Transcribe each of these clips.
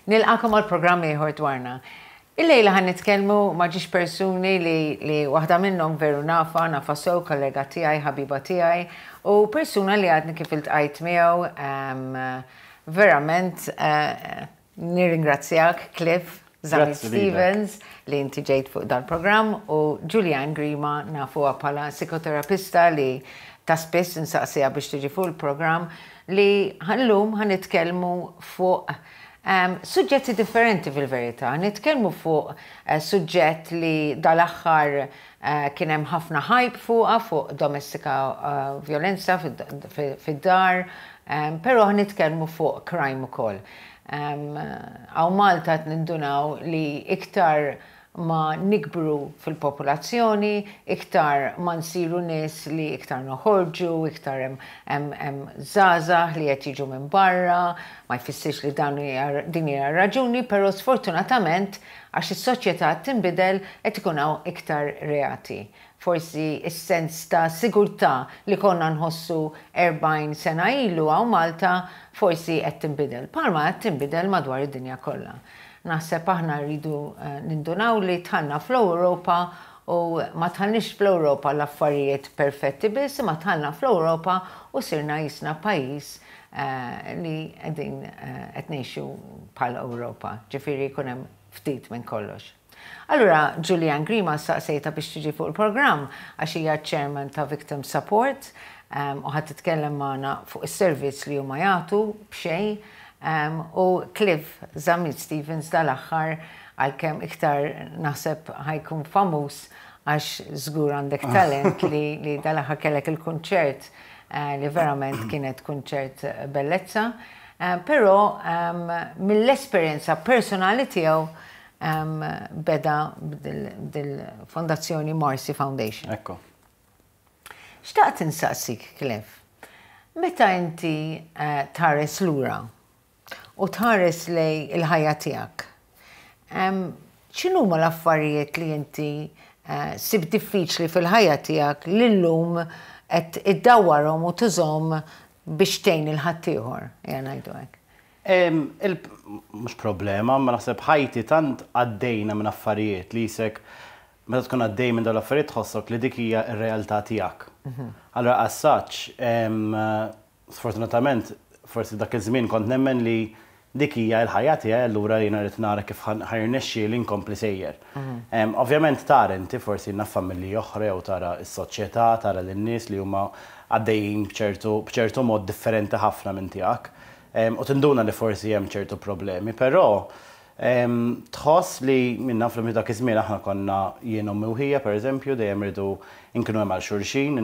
Nilqagħkom għal programm ieħor dwarna. Illejla ħa nitkellmu ma' ġiex persuni li, li waħda minnhom veru nafa, nafa sew, kollega tiegħi, ħabiba tiegħi, u persuna li għadni kif iltqajt miegħu verament nirringrazzjak, Cliff Zammit Grazzi lilek. Stevens, li inti ġejt fuq dal-programm u Julianne Grima nafuha bħala psikoterapista li ta' spiss nsaqsiha biex tiġi fuq il-programm li llum ħa nitkellmu fuq suġġetti differenti fil-verità. Nitkellmu fuq suġġett li dal-aħħar kien hemm ħafna hype fuqha, fuq domestika violenza fid-dar, però ħa nitkellmu fuq crime ukoll. Hawn Malta qed nindunaw li iktar ma nikbru fil-popolazzjoni, iktar ma nsiru nies li iktar noħorġu, iktar hemm żgħażagħ li qed jiġu minn barra, ma jfissirx li dan din hija raġuni, però sfortunatament għax is-soċjetà qed tinbidel qed ikun hawn iktar reati. Forsi s-sens ta' sigurtà li konna nħossu 40 sena ilu hawn Malta forsi qed tinbidel, bħalma qed tinbidel madwar id-dinja kollha. Naħseb aħna rridu nindunaw li dħalna fl-Ewropa u ma dħalniex fl-Ewropa l-affarijiet perfetti biss, imma dħalna fl-Ewropa u sirna jisna pajjiż li qegħdin qed ngħixu bħal Ewropa, ġifieri jkun hemm ftit minn kollox. Allura Julianne Grima staqsejtha biex tiġi fuq il-programm għax hija chairman ta' Victim Support u ħa titkellem magħna fuq is-servizz li huma jagħtu b'xejn u Cliff Zammit Stevens dal-aħħar, għalkemm iktar naħseb ħa jkun famuż għax żgur għandek talent li dal-aħħar kellek il-kunċert li verament kienet kunċert bellezza. Però mill-esperjenza personali tiegħu beda dil-fondazzjoni Marcy Foundation. Ekku. Xtaqt insaqsik, Cliff, meta inti tħares lura u tħares lejn il-ħajja tiegħek, x'inhuma l-affarijiet li inti sibt diffiċli fil-ħajja tiegħek li llum qed iddawwarhom u tużhom biex tgħin lil ħaddieħor, ejja ngħidu hekk? Mhux problema, ma naħseb ħajti tant għaddejna minn affarijiet li jisek meta tkun għaddej minn dawn l-affarijiet tħossok li dik hija r-realtà tiegħek. Allura as such, sfortunatament, forsi dak iż-żmien kont nemmen li dik hija l-ħajja tiegħi, allura jiena rrid nara kif ħa jirnexxieli nkompli sejjer. Ovvjament tara inti forsi naf familji oħra jew tara s-soċjetà, tara lin-nies li huma għaddejjin b'ċertu mod differenti ħafna minn tiegħek. U tinduna li forsi hemm ċertu problemi, però tħoss li minna fl dak iż-żmien aħna konna jien, ommi u ħija, pereżempju, dejjem rridu nkunu hemm għal xulxin,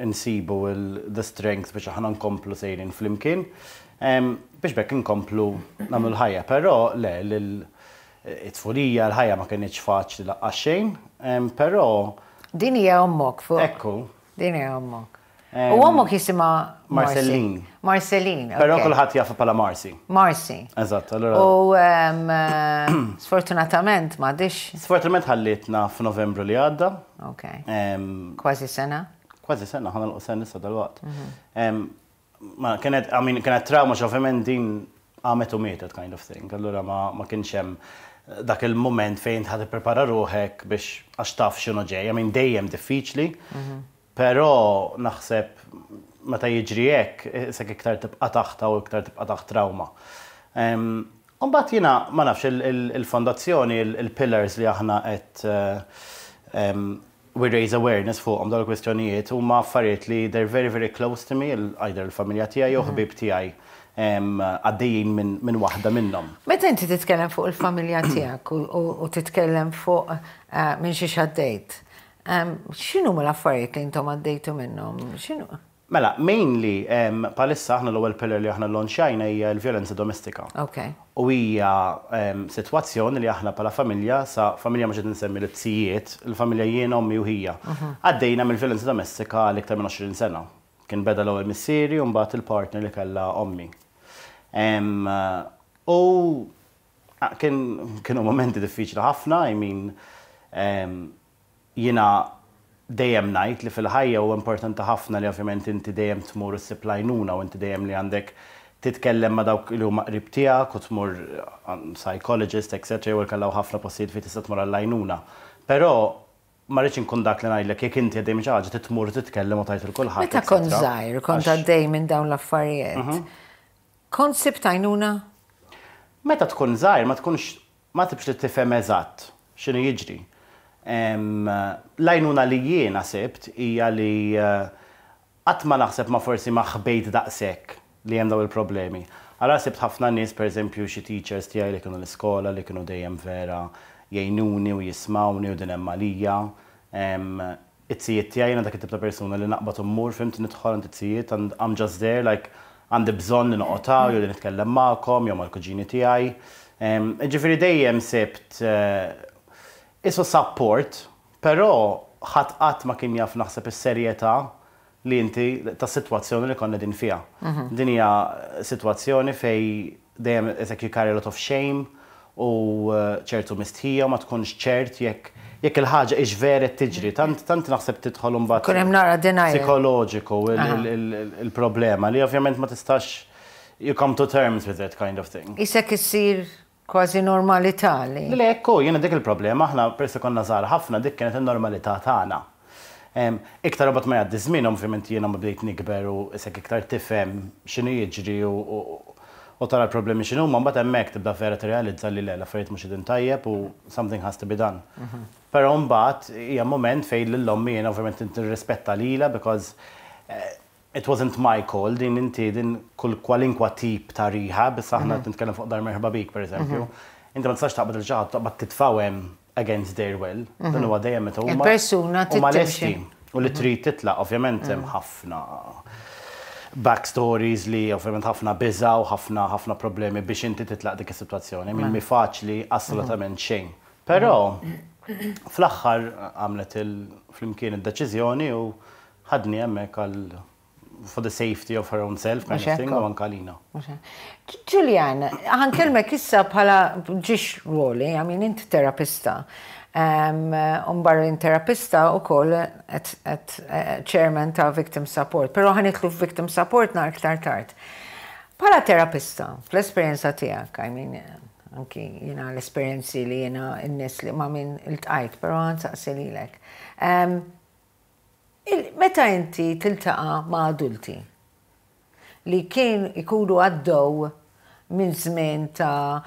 insibu the strength biex aħna nkomplu sejrin flimkien, biex bekk inkomplu nagħmlu l-ħajja. Però le, it-tfulija, l-ħajja ma kinitx faċli lanqas xejn, però Din hija ommok fuq. Ekku. Din hija ommok. U ommok jisimha Marcelline. Marcelline. Però kulħadd jafha bħala Marcy. Marcy. Eżatt, allura. U sfortunatament m'għadix. Sfortunatament ħallitna f'Novembru li għadda. Ok. Kważi sena. Kważi sena, ħa nagħlqu sena issa dalwaqt. Ma kienet, I mean, kienet trauma ovvjament din għamet u mietet kind of thing. Allura ma kienx hemm dak il-moment fejn ħa tipprepara ruħek biex għax taf x'inhu ġej. I mean, dejjem diffiċli. Però naħseb meta jiġri hekk, sek iktar tibqa' taħta u iktar tibqa' taħt trauma. Mbagħad jiena ma nafx il-fondazzjoni, il-pillars li aħna qed we raise awareness fuqhom dawn il-kwistjonijiet huma affarijiet li they're very very close to me, either il-familja tiegħi jew ħbieb tiegħi għaddejjin minn waħda minnhom. Meta inti titkellem fuq il-familja tiegħek u titkellem fuq minn xiex għaddejt, x'inhu l-affarijiet li intom għaddejtu minnhom? X'inhu? Mela, mainly, bħalissa aħna l-ewwel pillar li aħna launchajna hija l-vjolenza domestika. U hija sitwazzjoni li aħna bħala familja, sa familja mhux qed insemmi l-tzijiet, il-familja jien, ommi u ħija. Għaddejna mill-vjolenza domestika għal iktar minn 20 sena. Kien beda l-ewwel missieri u mbagħad il-partner li kellha ommi. U kienu momenti diffiċli ħafna, I mean, jiena dejjem ngħid li fil-ħajja huwa importanti ħafna li ovvjament inti dejjem tmur issib l-għajnuna u inti dejjem li għandek titkellem ma' dawk li huma qrib tiegħek u tmur psychologist, etc. Jew inkella ħafna postijiet fejn tista' tmur għall-għajnuna. Però ma rridx inkun dak li ngħidlek jekk inti għaddej minn xi ħaġa titmur titkellem u tgħid lil kulħadd. Meta kont żgħir, kont għaddej minn dawn l-affarijiet. Kont sibt għajnuna? Meta tkun żgħir ma tkunx ma tibx li tifhem eżatt x'inhu jiġri. L-għajnuna li jiena sibt hija li qatt ma naħseb ma forsi ma ħbejt daqshekk li hemm dawn il-problemi. Allura sibt ħafna nies, pereżempju xi teachers tiegħi li kienu l-iskola li kienu dejjem vera jgħinuni u jismgħuni u din hemm għalija. It-zijiet tiegħi, jiena dak it-tip ta' persuna li naqbad u mmur, fhimt, nidħol għand it-zijiet and I'm just there, like għandi bżonn li noqgħod hawn jew li nitkellem magħkom jew mal-kuġini tiegħi. Jiġifieri dejjem sibt qisu support, però ħadd qatt ma kien jaf naħseb is-serjetà li inti tas-sitwazzjoni li konna qegħdin fiha. Din hija sitwazzjoni fejn dejjem it's like you carry a lot of shame u ċertu mistħija u ma tkunx ċert jekk jekk il-ħaġa hix vera qed tiġri. Tant tant naħseb tidħol imbagħad Ikun hemm naqra denial. psikoloġiku il-problema li ovvjament ma tistax you come to terms with it kind of thing. Qisek issir kważi normalità li. Le, ekku, jiena dik il-problema, aħna peress li konna żgħar ħafna dik kienet in-normalità tagħna. Iktar imbagħad ma jgħaddi żmien, ovvjament jiena ma bdejt nikber u isek iktar tifhem x'inhu jiġri u tara l-problemi x'inhuma, mbagħad hemmhekk tibda vera tirrealizza li le, l-affarijiet mhux qegħdin tajjeb u something has to be done. Però mbagħad hija mument fejn lil ommi jiena ovvjament nirrispetta lilha because it wasn't my call, din inti din kull kwalinkwa tip ta' rehab, issa aħna qed nitkellem fuq Dar Merħba Bik pereżempju, inti ma tistax taqbad lil xi ħadd taqbad titfgħu hemm against their will. Dan huwa dejjem meta huma Il-persuna huma lesti u li trid titlaq, ovvjament hemm ħafna backstories li ovvjament ħafna biża' u ħafna ħafna problemi biex inti titlaq dik is-sitwazzjoni. Min mhi faċli assolutament xejn. Però fl-aħħar għamlet flimkien id-deċiżjoni u ħadni hemmhekk għal for the safety of her own self kind of thing u anke għalina. Julian, ħa nkellmek issa bħala ġiex ruoli, I mean inti terapista. Barra terapista u koll at chairman ta' Victim Support, pero ħa nidħlu Victim Support naqra iktar tard. Bħala terapista, fl-esperjenza tiegħek, I mean, anki jiena l-esperjenzi li jiena n-nies li ma' min iltqajt, pero ħa nsaqsi lilek. Meta inti tiltaqa' ma' adulti li kien ikunu għaddew minn żmien ta'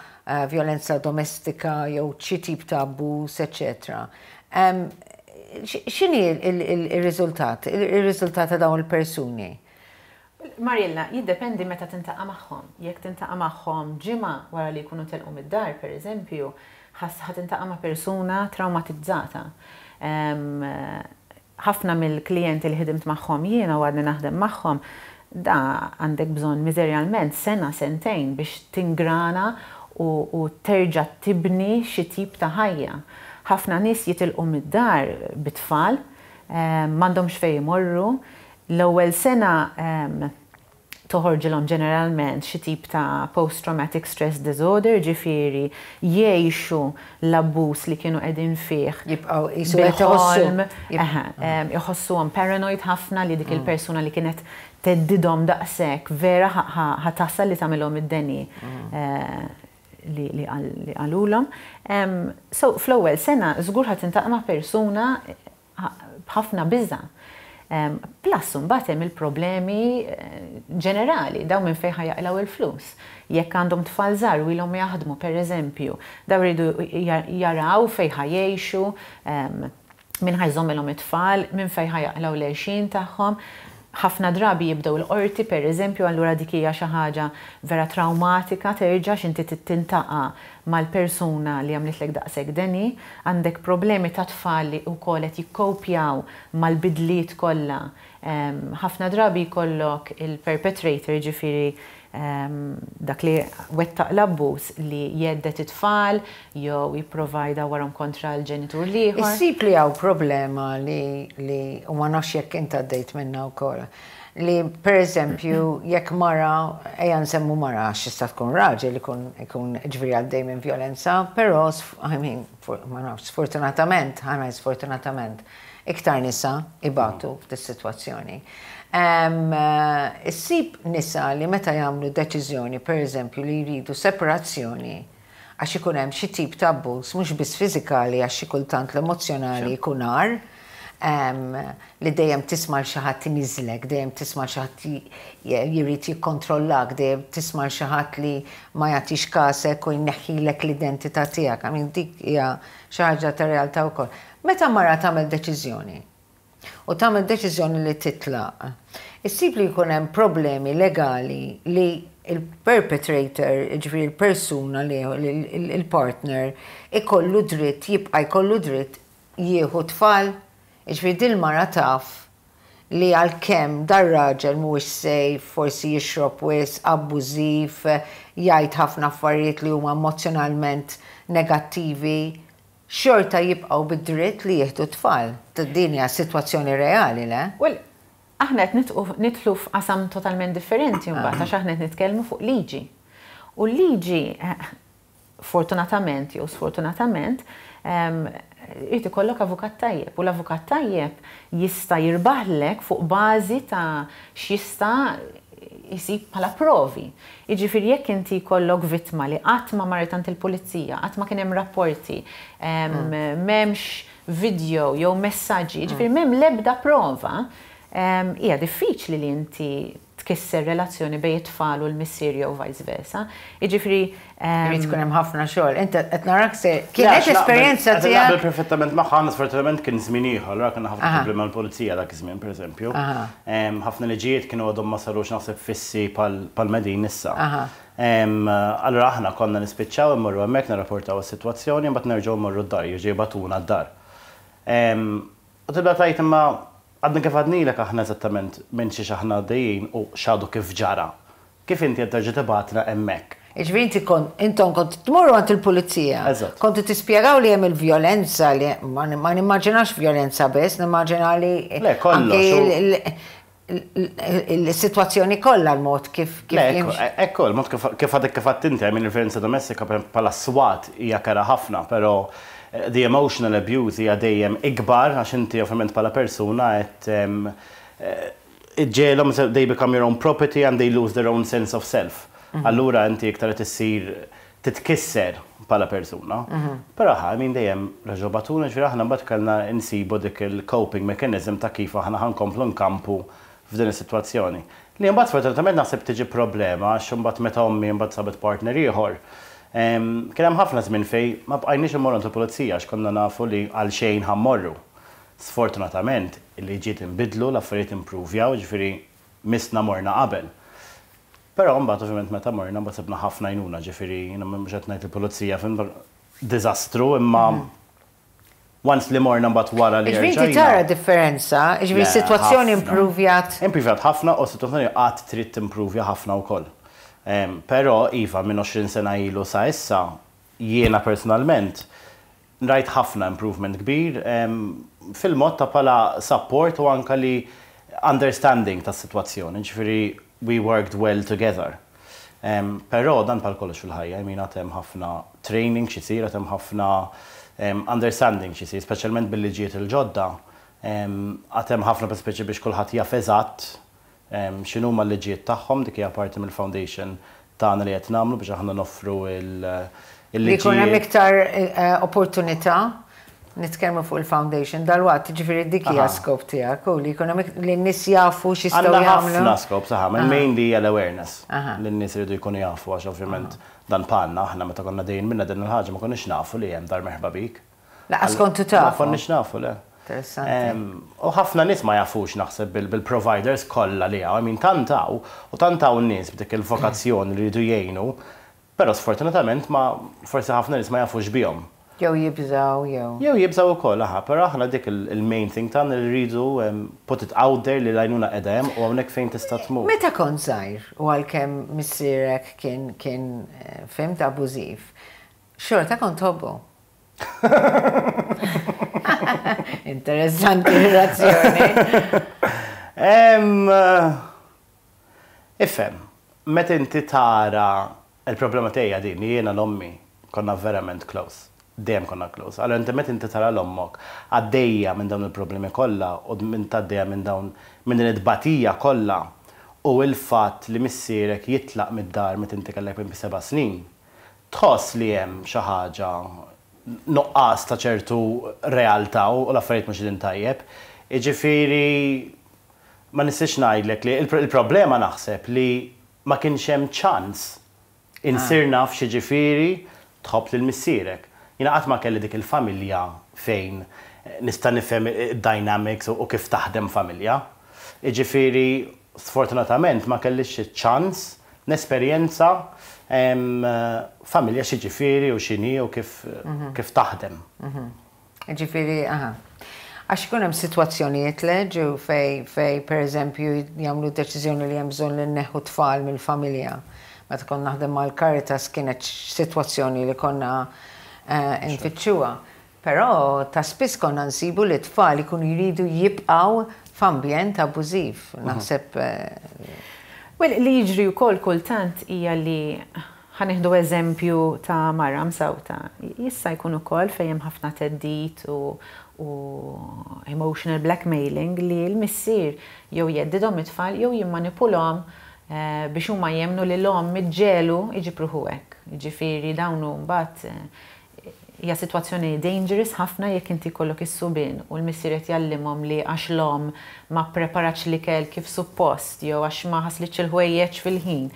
violenza domestika jew xi tip ta' abbuż, eccetera. X'inhi il-riżultat? Il-riżultat ta' dawn il-persuni? Mariella, jiddependi meta tiltaqa' magħhom. Jekk tiltaqa' magħhom ġimgħa wara li jkunu telqu mid-dar, per eżempju, ħa tiltaqa' ma' persuna traumatizzata. Ħafna mill-klijenti li ħdimt magħhom jiena u għadni naħdem magħhom, da għandek bżonn miżerjalment sena, sentejn biex tingrana u terġa' tibni xi tip ta' ħajja. Ħafna nies jitilqu mid-dar bit-tfal, m'għandhomx fejn imorru. L-ewwel sena toħorġilhom ġeneralment xi tip ta' post-traumatic stress disorder, ġifieri jgħixu l-abbuż li kienu qegħdin fih. Jibqgħu qisu qed iħossu. Iħossuhom paranoid ħafna li dik il-persuna li kienet theddidhom daqshekk vera ħa tasal li tagħmilhom id-deni li qalulhom. So fl-ewwel sena żgur ħa tiltaqa' ma' persuna b'ħafna biża'. Plus imbagħad hemm il-problemi ġenerali, dawn minn fejn ħa jaqilgħu il-flus. Jekk għandhom tfal żgħar u ilhom jaħdmu pereżempju, dawn iridu jaraw fejn ħa jgħixu, min ħa jżommilhom it-tfal, minn fejn ħa jaqilgħu l-għixien tagħhom. Ħafna drabi jibdew il-qorti pereżempju, allura dik hija xi ħaġa vera traumatika terġa' x'inti tiltaqa' mal-persuna li għamlitlek daqshekk deni, għandek problemi ta' tfal li wkoll qed jikkopjaw mal-bidliet kollha. Ħafna drabi jkollok il-perpetrator, ġifieri dak li wettaq l-abbuż li jhedded it-tfal jew jipprova jdawwarhom kontra l-ġenitur l-ieħor. Issib li hawn problema li u ma nafx jekk int għaddejt minnha wkoll. Li per eżempju jekk mara, ejja nsemmu mara għax tista' tkun raġel ikun ikun ġifieri għaddej minn violenza, però I mean, ma nafx, sfortunatament, ħa ngħid sfortunatament, Iktar nisa ibatu f'dis-sitwazzjoni. Issib nisa li meta jagħmlu deċiżjoni, pereżempju, li jridu separazzjoni għax ikun hemm xi tip ta' abbuż mhux biss fiżikali għax xi kultant l-emozzjonali jkun agħar, li dejjem tisma' 'l xi ħadd iniżżlek, dejjem tisma' 'l xi ħadd jrid jikkontrollak, dejjem tisma' 'l xi ħadd li ma jagħtix kasek u jneħħilek l-identità tiegħek. I mean dik hija xi ħaġa ta' realtà wkoll. Meta mara tagħmel deċiżjoni u tagħmel deċiżjoni li titlaq, issib li jkun hemm problemi legali li l-perpetrator, jiġifieri l-persuna li il-partner, ikollu dritt, jibqa' jkollu dritt jieħu t-tfal. Jiġifieri din il-mara taf li għalkemm dar-raġel mhuwiex safe, forsi jixrob wisq, abbużiv, jgħid ħafna affarijiet li huma emozzjonalment negattivi, xorta jibqgħu bid-dritt li jieħdu t-tfal. Din hija sitwazzjoni reali, le? Well, aħna qed nidħlu f'qasam totalment differenti mbagħad għax aħna qed nitkellmu fuq liġi. U l-liġi, fortunatament jew sfortunatament, irid ikollok avukat tajjeb u l-avukat tajjeb jista' jirbaħlek fuq bażi ta' x'jista' jsib bħala provi. Jiġifieri jekk inti jkollok vittma li qatt ma marret għand il-pulizija, qatt ma kien hemm rapporti, m'hemmx video jew messaġġi, jiġifieri m'hemm l-ebda prova, hija diffiċli li inti tkisser relazzjoni bejn it-tfal u l-missier jew vice versa. Jiġifieri. Irid ikun hemm ħafna xogħol. Int qed narak se kienet esperjenza tiegħek. Naqbel perfettament magħha, aħna sfortunatament kien żmien ieħor, allura kellna ħafna problemi mal-pulizija dak iż-żmien pereżempju. Ħafna liġijiet kienu għadhom ma sarux naħseb fissi bħal m'qegħdin issa. Allura aħna konna nispiċċaw immorru hemmhekk nirrapportaw is-sitwazzjoni imbagħad nerġgħu mmorru d-dar, jerġgħu jibagħtuna d-dar. U tibda tgħid imma għadna kif għadnilek aħna eżattament minn xiex aħna għaddejjin u x'għadu kif ġara. Kif inti qed terġa' tibgħatna hemmhekk? Jiġifieri inti kont, intom kontu tmorru għand il-pulizija. Eżatt. Kontu tispjegaw li hemm il-vjolenza li, ma nimmaġinax vjolenza biss, nimmaġina li. Le, kollox. Anki il-sitwazzjoni kollha l-mod kif kif jimxi. Ekku, il-mod kif għadek kif għedt inti, I mean il-vjolenza domestika bħala swat hija kerha ħafna, però the emotional abuse hija dejjem ikbar għax inti ovvjament bħala persuna qed iġġegħelhom they become your own property and they lose their own sense of self. Allura inti iktar qed issir titkisser bħala persuna. Però I mean dejjem reġgħu bagħtuna, jiġifieri aħna mbagħad kellna nsibu dik il-coping mechanism ta' kif aħna ħa nkomplu nkampu f'din is-sitwazzjoni. Li mbagħad sfortunatament naħseb tiġi problema għax imbagħad meta ommi mbagħad sabet partner ieħor, kien hemm ħafna żmien fejn ma bqajniex immorru għand il-pulizija għax konna nafu li għalxejn ħa mmorru. Sfortunatament, il-liġijiet inbidlu, l-affarijiet impruvjaw, jiġifieri missna morna qabel. Però mbagħad ovvjament meta morna mbagħad sibna ħafna għajnuna, ġifieri jiena mhux qed ngħid il-pulizija fhimt diżastru imma once li morna mbagħad wara li Ġifieri inti tara differenza, ġifieri s-sitwazzjoni impruvjat. Impruvjat ħafna u s-sitwazzjoni għad trid timpruvja ħafna wkoll. Però iva minn 20 sena ilu sa issa jiena personalment Rajt ħafna improvement kbir fil-mod ta' bħala support u anke li understanding tas-sitwazzjoni, ġifieri we worked well together. Però dan bħal kollox fil-ħajja, I mean għad hemm ħafna training x'isir, għad hemm ħafna understanding x'isir, speċjalment bil-liġijiet il-ġodda, għad hemm ħafna speċi biex kulħadd jaf eżatt X'inhuma l-liġijiet tagħhom, dik hija parti mill-foundation tagħna li qed nagħmlu biex aħna noffru l-liġijiet. Li jkun hemm iktar opportunità, nitkellmu fuq il-foundation dalwaqt, jiġifieri dik hija skop tiegħek u li jkun hemm li n-nies jafu x'jistgħu jagħmlu. Għandna ħafna skop, saħa, mainly hija l-awareness. Li n-nies iridu jkunu jafu għax ovvjament dan bħalna aħna meta konna għaddejjin minna din il-ħaġa ma konniex nafu li hemm Dar Merħba Bik. Lanqas kontu tafu? Ma konniex nafu, le. Interessanti. U ħafna nies ma jafux naħseb bil-providers kollha li hawn. I mean tant hawn, u tant hawn nies b'dik il-vokazzjoni li jridu jgħinu, però sfortunatament ma forsi ħafna nies ma jafux bihom. Jew jibżgħu jew. Jew jibżgħu wkoll, aha, però aħna dik il-main thing tagħna li rridu put it out there li l-għajnuna qiegħda hemm u hawnhekk fejn tista' tmur. Meta kont żgħir u għalkemm missierek kien kien fhimt abbużiv, xorta kont tħobbu? Interessanti relazzjoni. Ifhem, meta inti tara il-problema tiegħi din li jiena l-ommi konna verament close. Dejjem konna close. Allura inti meta inti tara 'l ommok għaddejja minn dawn il-problemi kollha u int għaddejja minn dawn minn din it-tbatija kollha u l-fatt li missierek jitlaq mid-dar meta inti kellek maybe 7 snin, tħoss li hemm xi ħaġa, nuqqas ta' ċertu realtà u l-affarijiet mhux qegħdin tajjeb. Jiġifieri ma nistax ngħidlek li il-problema naħseb li ma kienx hemm ċans insir naf x'jiġifieri tħobb lil missierek. Jiena qatt ma kelli dik il-familja fejn nista' nifhem id-dynamics u kif taħdem familja. Jiġifieri sfortunatament ma kellix iċ-ċans nesperjenza familja x'jiġifieri u x'inhi u kif taħdem. Ġifieri, aha. Għax ikun hemm sitwazzjonijiet leġu fej per eżempju jagħmlu deċiżjoni li hemm bżonn li nneħħu tfal mill-familja. Meta konna naħdem mal-Caritas kienet sitwazzjoni li konna nfittxuha. Però ta' spiss konna nsibu li tfal ikunu jridu jibqgħu f'ambjent abbużiv. Naħseb. Well, li jiġri wkoll kultant hija li, ħa nieħdu eżempju ta' mara msawta. Jista' jkun ukoll fejn hemm ħafna theddid u emotional blackmailing li l-missier jew jheddidhom it-tfal jew jimmanipulhom biex huma jemmnu li l-omm iġġegħlu jġib ruħu hekk. Ġifieri dawn mbagħad hija sitwazzjoni dangerous ħafna jekk inti jkollok is-subien u l-missier qed jgħallimhom li għax l-omm ma preparatx l-ikel kif suppost jew għax ma ħaslitx il-ħwejjeġ fil-ħin,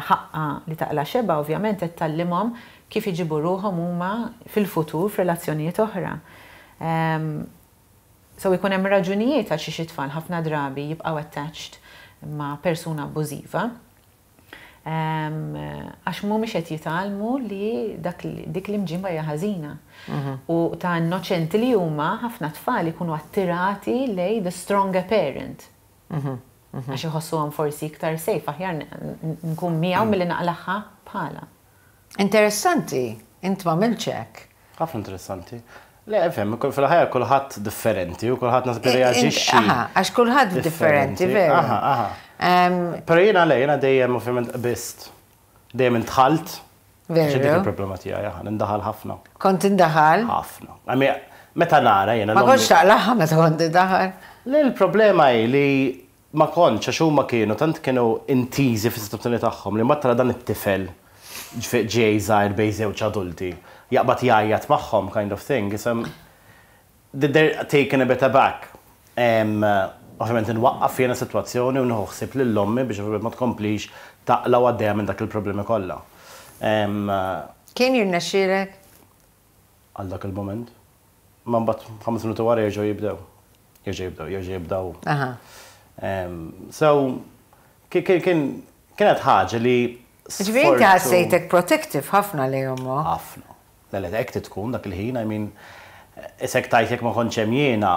ħaqqa li taqla' xebgħa. Ovvjament qed tgħallimhom kif iġibu ruħhom huma fil-futur f'relazzjonijiet oħra. So jkun hemm raġunijiet għal xi tfal ħafna drabi jibqgħu attached ma' persuna abbużiva. Għax mhumiex qed jitgħallmu li dak dik l-imġiba hija ħażina. U ta' innoċenti li huma, ħafna tfal ikunu attirati lejn the stronger parent. Għax iħossuhom forsi iktar safe, aħjar nkun miegħu milli naqlagħha bħala. Interessanti, int ma hekk. Ħafna interessanti. Le, fem, fil-ħajja kulħadd differenti u kulħadd naħseb reaġixxi. Aha, għax kulħadd differenti, veru. Aha. Però jiena le, jiena dejjem ovvjament qbist. Dejjem indħalt. Veru. Dik il-problema tiegħi, aha, nindaħal ħafna. Kont indaħal? Ħafna. I mean, meta nara jiena. Ma kontx taqlagħha meta kont indaħal? Le, il-problema hi li ma kontx, għax huma kienu tant kienu intiżi fis-situazzjoni tagħhom li ma tara dan it-tifel ġej żgħir bejn żewġ adulti jaqbad jgħajjat magħhom kind of thing. Isem they're taken a bit aback. Ovvjament nwaqqaf jiena sitwazzjoni u nieħu ħsieb lil ommi biex ovvjament ma tkomplix taqla' u għaddejja minn dak il-problemi kollha. Kien jirnexxielek? Għal dak il-moment. Ma mbagħad 5 minuti wara jerġgħu jibdew. Jerġgħu jibdew, jerġgħu jibdew. So, kienet ħaġa li Ġifieri inti ħassejtek protective ħafna li ommok. Ħafna. Le, hekk tkun dak il-ħin, I mean, isek tajt jekk ma kontx hemm jiena,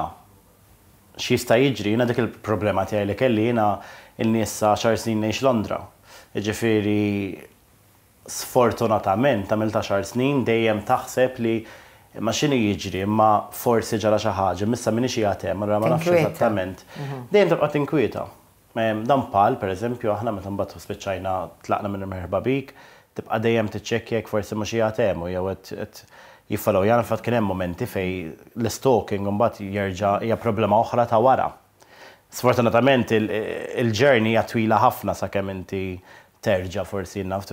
x'jista' jiġri, jiena dik il-problema tiegħi li kelli, jiena in-nies 10 snin ngħix Londra. Ġifieri sfortunatament għamilt 10 snin dejjem taħseb li ma x'inhu jiġri, imma forsi ġara xi ħaġa, missa minix qiegħed hemm, allura ma nafx Tinkwieta. Eżattament. Dejjem tibqa' tinkwieta. Dan pal, per eżempju, aħna meta mbagħad spiċċajna tlaqna minn Merħba Bik, tibqa' dejjem tiċċekkja jekk forsi mhux qiegħed hemm u jew qed jiffollow. Jana fatt kien hemm momenti fej l-stalking mbagħad jerġa' hija problema oħra ta' wara. Sfortunatament il-journey hija twila ħafna sakemm inti terġa' forsi naf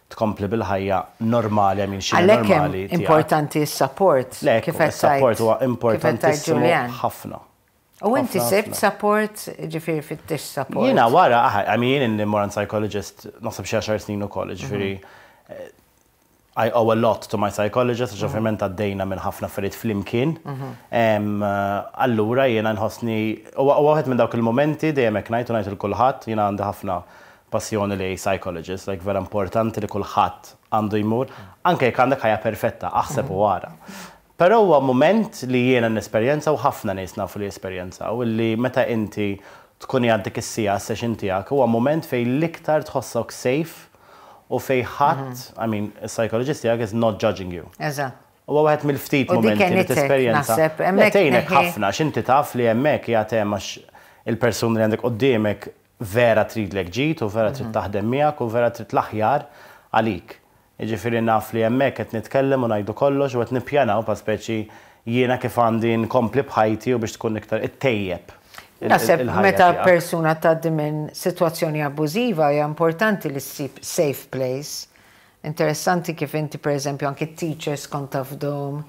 tkompli bil-ħajja normali, għamin xi Għalhekk hemm normali tiegħek. importanti s-support. Le, Kif qed il-support tgħid- huwa kif qed tgħid importantissimu Julian. ħafna. U inti Ħafna, sibt ħafna. support, ġifieri fittix support. Jiena wara, aha, I mean, jien immur għand psychologist naħseb xi 10 snin ukoll, ġifieri I owe a lot to my psychologist, għax ovvjament għaddejna minn ħafna affarijiet flimkien. Allura jiena nħossni, huwa wieħed minn dawk il-momenti dejjem hekk ngħid u ngħid il kulħadd, jiena għandi ħafna passjoni li psychologist, like vera importanti li kulħadd għandu jmur, anke jekk għandek ħajja perfetta, aħseb u wara. Però huwa moment li jiena nesperjenza u ħafna nies nafu li esperjenzaw, illi meta inti tkun għaddejt is-siegħa session tiegħek huwa moment fejn l-iktar tħossok safe u fejn ħadd, I mean, psychologist tiegħek is not judging you. Eżatt. Huwa wieħed mill-ftit U dik momenti li għenitek, tesperjenza. naħseb, Le, hemmhekk tgħinek ħafna, x'inti taf li hemmhekk qiegħed hemm għax il-persuna li għandek quddiemek vera tridlek ġid u vera trid taħdem miegħek u vera trid l-aħjar għalik. Jiġifieri naf li hemmhekk qed nitkellem u ngħidu kollox u qed nippjanaw pa speċi jiena kif għandi nkompli b'ħajti u biex tkun iktar ittejjeb Naħseb il-ħajja meta tiegħek. Persuna tgħaddi minn sitwazzjoni abbużiva, hija importanti li ssib safe place. Interessanti kif inti, per eżempju, anki teachers kont tafdahom.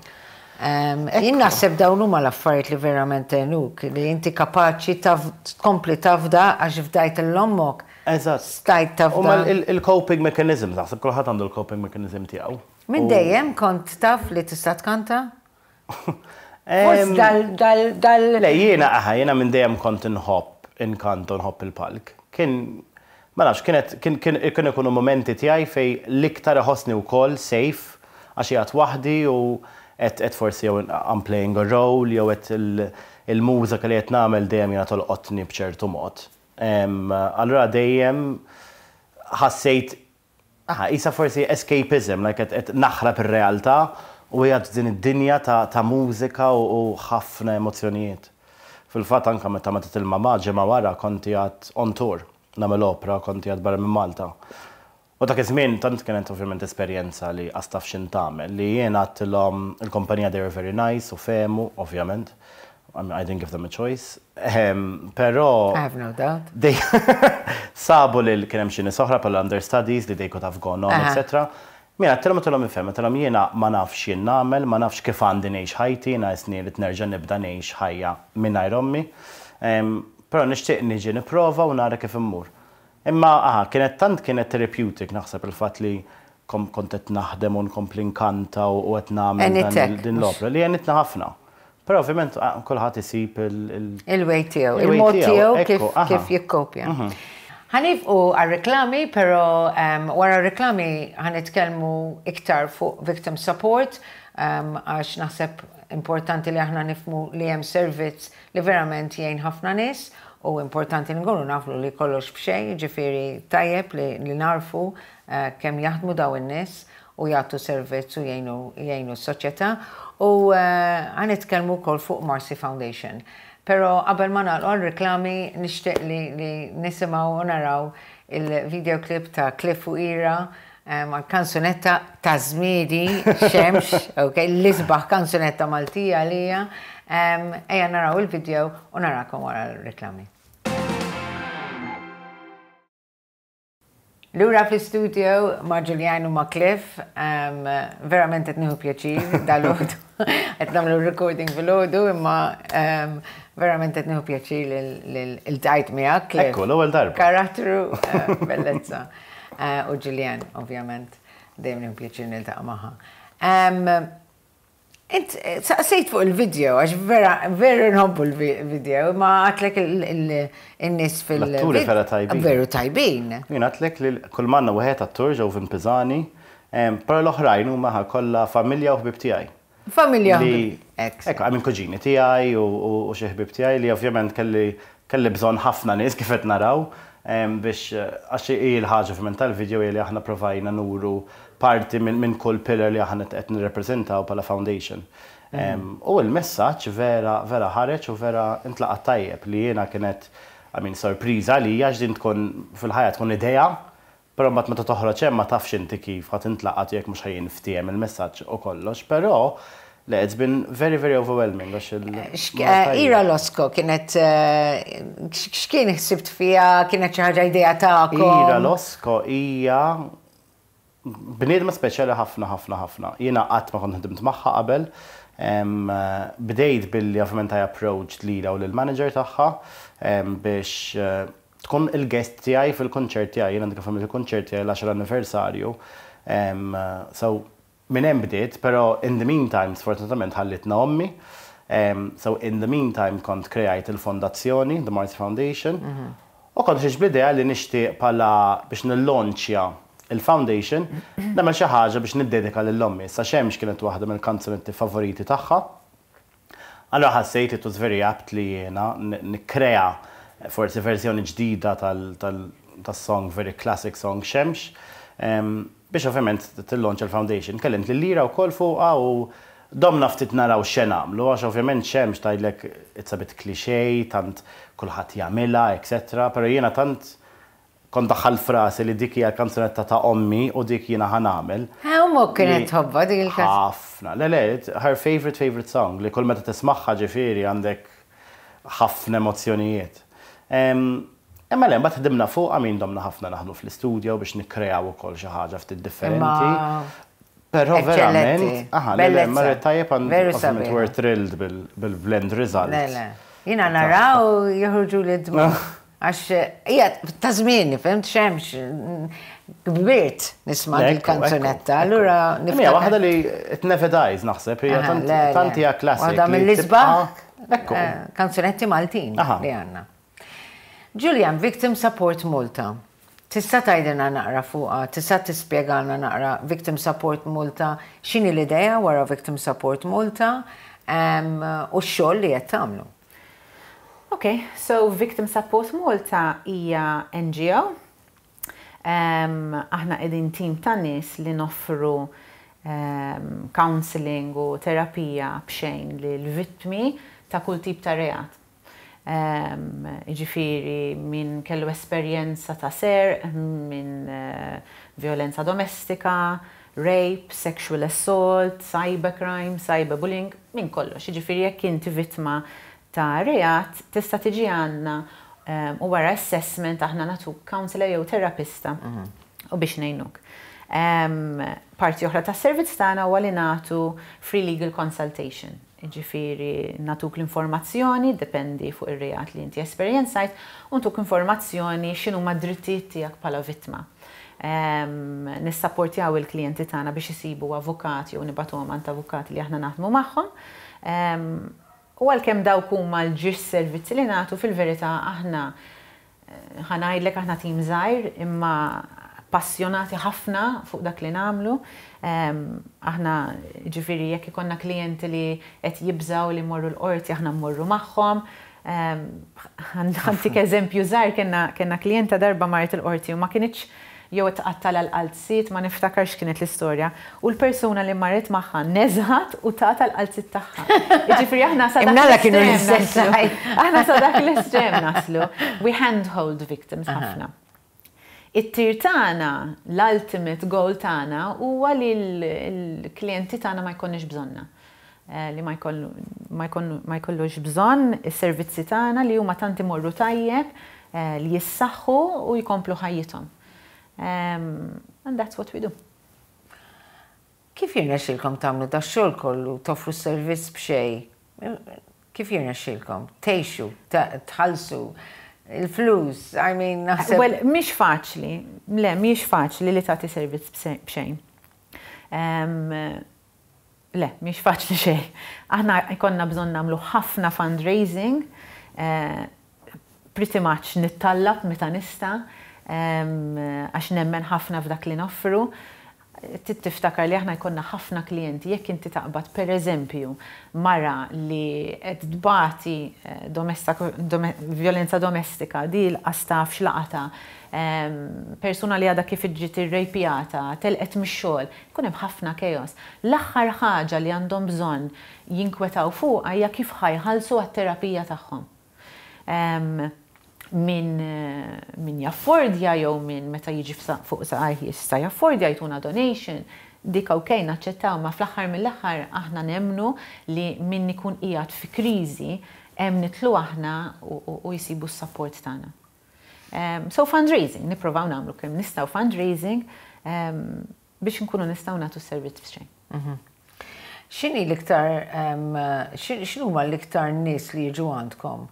Jien naħseb dawn huma l-affarijiet li verament għenuk, li inti kapaċi tkompli tafda għax fdajt 'l ommok. Stajt U ma tafda. il-coping mechanism, naħseb kulħadd għandu l-coping mechanism tiegħu. Minn dejjem kont taf li tista' tkanta? Forsi dal dal dal Le, jiena aha, jiena minn dejjem kont inħobb inkanta u nħobb il-palk. Kien, ma nafx, kienet kien ikunu momenti tiegħi fej l-iktar iħossni wkoll safe, għax qiegħed waħdi u qed forsi jew I'm playing a role jew qed il-mużika li qed nagħmel dejjem jiena tolqotni b'ċertu mod. Allura dejjem ħassejt, aha, isa forsi escapism, like qed naħrab ir-realtà u qiegħed din id-dinja ta' mużika u ħafna emozzjonijiet. Fil-fatt, anka meta mietet il-mama, ġimgħa wara kont qiegħed on tour, nagħmel opera, kont qiegħed barra minn Malta. U dak iż-żmien tant kienet ovvjament esperjenza li qas taf x'int tagħmel, li jiena għedtilhom il-kumpanija, they were very nice u fehmu, ovvjament. I mean, I didn't give them a choice. Però I have no doubt. They sabu li kien hemm xi nies oħra bħala understudies li they could have gone on, etc. Jiena għedtilhom ifhem, għedtilhom jiena ma nafx jien nagħmel, ma nafx kif għandi ngħix ħajti, jiena isni li nerġa' nibda ngħix ħajja mingħajr ommi. Però nixtieq niġi nipprova u nara kif immur. Imma aha, kienet tant kienet therapeutic, naħseb, il-fatt li kont qed naħdem u nkompli nkanta u qed nagħmel Għenitek, din l-opera li għenitna ħafna. Però ovvjament kulħadd isib Il-way tiegħu, il-way il-mod tiegħu, tiegħu ekku, aha. kif jikkopja. Ħa nieqfu għal-reklami, pero wara reklami ħa nitkellmu iktar fuq victim support, għax naħseb importanti li aħna nifhmu li hemm servizz li verament jgħin ħafna nies u importanti li nkunu nafu li kollox b'xejn, ġifieri tajjeb li narfu kemm jaħdmu daw in-nies u jagħtu servizz u jgħinu s-soċjetà, u ħa nitkellmu wkoll fuq Marcy Foundation. Pero qabel ma nagħlqu għal-reklami, nixtieq li nisimgħu u naraw il-videoclip ta' Cliff u Ira għal kanzunetta ta' żmieni, Xemx, ok, l-isbaħ kanzunetta Maltija lija. Ejja naraw il-video u narakom wara l-reklami. Lura fl-studio ma' Julian u ma' Cliff, verament qed nieħu pjaċir dal-għodu. Qed nagħmlu recording fil-għodu, imma verament qed nieħu pjaċir lil-dajt miegħek, Cliff. Ekku, l-ewwel darba. Karattru, bellezza. U Julian, ovvjament, dejjem nieħu pjaċir niltaqa' magħha. Int, saqsejt fuq il-video, għax vera, vera nħobbu l-video, ma għedtlek il-nies fil- L-atturi vera tajbin. Veru tajbin. Jien għedtlek li kull manna wieħed attur ġew Pisani, però l-oħrajn huma kollha familja u ħbib tiegħi. Familja. Li Ex. Ekku, għamin kuġini tiegħi u xi ħbib tiegħi li ovvjament kelli bżonn ħafna nies, kif qed naraw, biex għax hi l-ħaġa ovvjament tal-video hi li aħna provajna nuru parti minn kull pillar li aħna qed nirrepreżentaw bħala foundation. U l-messaġġ vera vera ħareġ u vera intlaqat tajjeb, li jiena kienet, I mean, sorpriża li għax din tkun fil-ħajja tkun idea, però mbagħad meta toħroġ hemm ma tafx inti kif ħadd intlaqat, jekk mhux ħa jinftiehem il-messaġġ u kollox, però le, it's been very, very overwhelming għax Ira Losco kienet, x'kien ħsibt fiha, kienet xi ħaġa idea tagħkom? Ira Losco hija bniedma speċjali ħafna ħafna ħafna. Jiena qatt ma kont ħdimt magħha qabel. Bdejt billi ovvjament I approached lilha u lill-manager tagħha biex tkun il-guest tiegħi fil-konċert tiegħi. Jiena għandi kif il-konċert tiegħi l-10 anniversarju. So minn hemm bdiet, però in the meantime sfortunatament ħallitna ommi. So in the meantime kont kreajt il-fondazzjoni, the Marcy Foundation. U kont ħriġt bl-idea li nixtieq bħala biex nillonċja il-foundation, nagħmel xi ħaġa biex niddedika lil ommi. Sa Xemx kienet waħda mill-kanzunetti favoriti tagħha. Allora ħassejt it was very apt li jiena nikkrea forsi verżjoni ġdida tas-song, very classic song Xemx, biex ovvjament tillonċa l-foundation. Kellimt lil Ira wkoll fuqha u domna ftit naraw x'se nagħmlu, għax ovvjament Xemx tgħidlek it's a bit cliché, tant kulħadd jagħmilha, etc. Però jiena tant Kont daħħalt f'rasi li dik hija l-kanzunetta ta' ommi u dik jiena ħa nagħmel. Ommok kienet tħobbha dik il-kanzunetta? Ħafna. Le, le, her favourite favourite song li kull meta tismagħha ġifieri għandek ħafna emozzjonijiet. Imma le, mbagħad ħdimna fuqha, min domna ħafna naħdmu fl-istudio biex nikkreaw ukoll xi ħaġa ftit differenti. Però verament, aha, le, le, marret tajjeb and ovvjament we're thrilled bil-blend result. Le, le. Jiena naraw joħorġuli d-dmugħ. Għax hija ta' żmieni, fhimt x'hemmx kbirt nisma' dil-kanzunetta, allura niftakar. Hija waħda li it never dies naħseb, hija tant hija classic. Waħda mill-isbaħ kanzunetti Maltin li għandna. Julian, Victim Support Malta. Tista' tgħidilna naqra fuqha, tista' tispjegalna naqra Victim Support Malta, x'inhi l-idea wara Victim Support Malta u x-xogħol li qed tagħmlu? Ok, so Victim Support Malta hija NGO. Aħna qegħdin tim ta' nies li noffru counselling u terapija b'xejn lil vittmi ta' kull tip ta' reat. Jiġifieri min kellu esperjenza ta' serq, minn vjolenza domestika, rape, sexual assault, cybercrime, cyberbullying, minn kollox. Jiġifieri jekk inti vittma ta' reat tista' tiġi għandna u wara assessment aħna nagħtuk counsellor jew terapista u biex ngħinuk. Parti oħra tas-servizz tagħna huwa li nagħtu free legal consultation. Jiġifieri nagħtuk l-informazzjoni, dependi fuq ir-reat li inti esperjenzajt, u ntuk informazzjoni x'inhuma d-drittijiet tiegħek bħala vittma. Nissapportjaw il-klijenti tagħna biex isibu avukat jew nibagħtuhom għand avukati li aħna naħdmu magħhom. U għalkemm dawk huma l-ġiex servizzi li nagħtu, fil-verità aħna ħa ngħidlek aħna tim żgħir imma passjonati ħafna fuq dak li nagħmlu. Aħna ġifieri jekk ikollna klijenti li qed jibżgħu li jmorru l-qorti aħna mmorru magħhom. Ħa ntik eżempju żgħir, kellna klijenta darba marret il-qorti u ma kinitx jew tqattalha l-qalziet, ma niftakarx x'kienet l-istorja, u l-persuna li marret magħha neżgħet u tatha l-qalziet tagħha. Jiġifieri aħna sa dak l-estrem naslu. Aħna sa dak l-estrem naslu. We handhold victims ħafna. It-tir tagħna, l-ultimate goal tagħna huwa li l-klijenti tagħna ma jkollniex bżonna. Li ma jkollux bżonn is-servizzi tagħna li huma tant imorru tajjeb li jissaħħu u jkomplu ħajjithom. And that's what we do. Kif jirnexxilkom tagħmlu dax-xogħol kollu, toffru s-servizz b'xejn? Kif jirnexxilkom? Tgħixu, tħallsu il-flus, I mean, naħseb. Well, mhix faċli, le, mhix faċli li tagħti servizz b'xejn. Le, mhix faċli xejn. Aħna jkollna bżonn nagħmlu ħafna fundraising, pretty much nittallab meta nista', għax nemmen ħafna f'dak li noffru. Trid tiftakar li aħna jkollna ħafna klijenti, jekk inti taqbad per eżempju mara li qed tbati vjolenza domestika, di laqas taf x'laqatha, persuna li għadha kif ġiet irrejpjata, telqet mix-xogħol, Ikun hemm ħafna chaos. L-aħħar ħaġa li għandhom bżonn jinkwetaw fuqha hija kif ħa jħallsu għat-terapija tagħhom. Min min jaffordja jew min meta jiġi fuq saqajh jista' jaffordja jtuna donation, dik ok naċċettaw imma fl-aħħar mill-aħħar aħna nemmnu li min ikun qiegħed fi kriżi hemm nidħlu aħna u jsibu s-sapport tagħna. So fundraising, nipprovaw nagħmlu kemm nistgħu fundraising biex nkunu nistgħu nagħtu s-servizz b'xejn. X'inhi l-iktar, x'inhuma l-iktar nies li jiġu għandkom?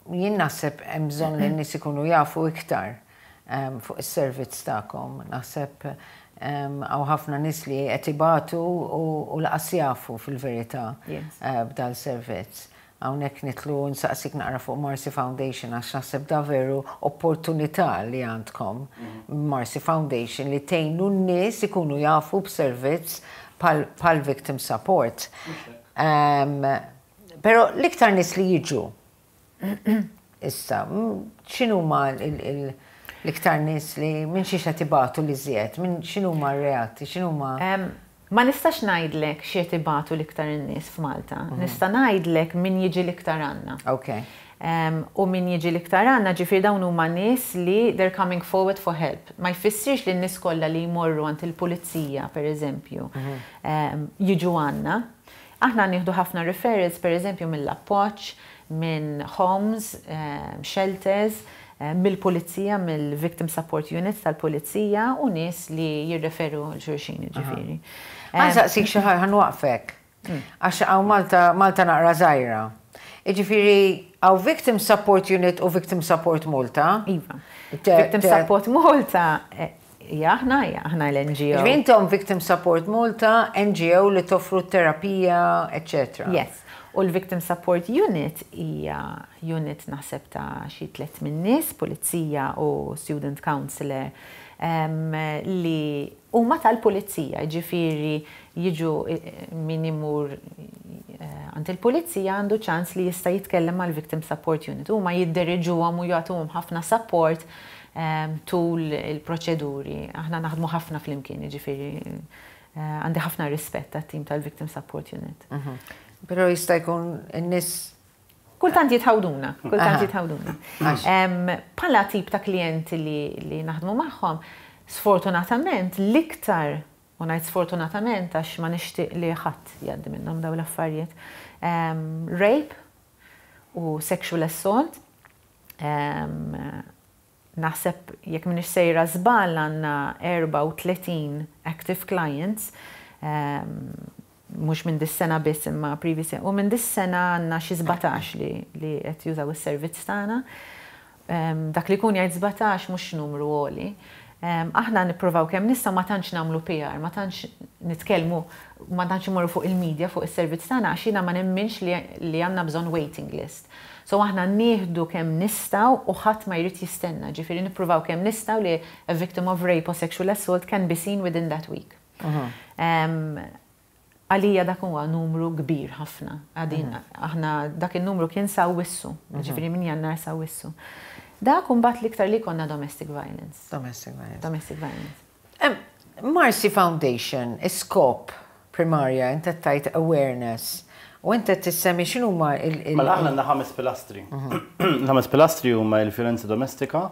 Jien naħseb hemm bżonn li n-nies ikunu jafu iktar fuq is-servizz tagħkom. Naħseb hawn ħafna nies li qed ibatu u laqas jafu fil-verità b'dal servizz. Hawnhekk nidħlu u nsaqsik naqra fuq Marcy Foundation għax naħseb da veru opportunità li għandkom Marcy Foundation li tgħinu n-nies ikunu jafu b'servizz bħal Victim Support. Però l-iktar nies li jiġu issa, x'inhuma l-iktar nies li minn xiex qed ibatu l-iżjed, minn x'inhuma r-reati, x'inhuma. Ma nistax ngħidlek x'qed ibatu l-iktar in-nies f'Malta. Nista' ngħidlek min jiġi l-iktar għandna. Ok. U min jiġi l-iktar għandna, ġifieri dawn huma nies li they're coming forward for help. Ma jfissirx li n-nies kollha li jmorru għand il-pulizija, per eżempju, jiġu għandna. Aħna nieħdu ħafna referrals, per eżempju, mill-Appoġġ, minn homes, shelters, mill-pulizija, mill-victim support units tal-pulizija u nies li jirreferu 'l xulxin, ġifieri. Ħa nsaqsik xi ħaġa, ħa nwaqfek. Għax hawn Malta, Malta naqra żgħira. Jiġifieri hawn Victim Support Unit u Victim Support Malta. Iva. Victim Support Malta hija aħna, hija aħna l-NGO. Jiġifieri intom Victim Support Malta, NGO li toffru terapija, eċċetera. Yes. U l-Victim Support Unit hija unit naħseb ta' xi 300 nies, pulizija u student counselor li huma tal-pulizija, jiġifieri jiġu min imur għand il-pulizija għandu ċans li jista' jitkellem mal-Victim Support Unit. Huma jidderiġuhom u jagħtuhom ħafna support tul il-proċeduri. Aħna naħdmu ħafna flimkien, jiġifieri għandi ħafna rispett għat-tim tal-Victim Support Unit. Però jista' jkun in-nies Kultant jitħawduna, kultant jitħawduna. Bħala tip ta' klijenti li naħdmu magħhom, sfortunatament l-iktar, u ngħid sfortunatament għax ma nixtieq li ħadd jgħaddi minnhom dawn l-affarijiet, rape u sexual assault. Naħseb jekk m'iniex sejra żball għandna 34 active clients, mhux minn dis-sena biss imma previous, u minn dis-sena għandna xi 17 li qed jużaw is-servizz tagħna. Dak li jkun jgħid 17 mhux numru għoli. Aħna nippruvaw kemm nistgħu ma tantx nagħmlu PR, ma tantx nitkellmu, ma tantx imorru fuq il-media fuq is-servizz tagħna għax jiena ma nemminx li għandna bżonn waiting list. So aħna nieħdu kemm nistgħu u ħadd ma jrid jistenna, ġifieri nippruvaw kemm nistgħu li a victim of rape or sexual assault can be seen within that week. Għalija dak huwa numru kbir ħafna. Għadin, aħna dak il-numru kien s'Awwissu, ġifieri minn Jannar s'Awwissu. Dak mbagħad l-iktar li konna domestic violence. Domestic violence. Domestic violence. Marcy Foundation, iskop primarja, inta tajt awareness. U inta tissemmi x'inhuma il- Mela aħna għandna ħames pilastri. L-ħames pilastri huma il-vjolenza domestika,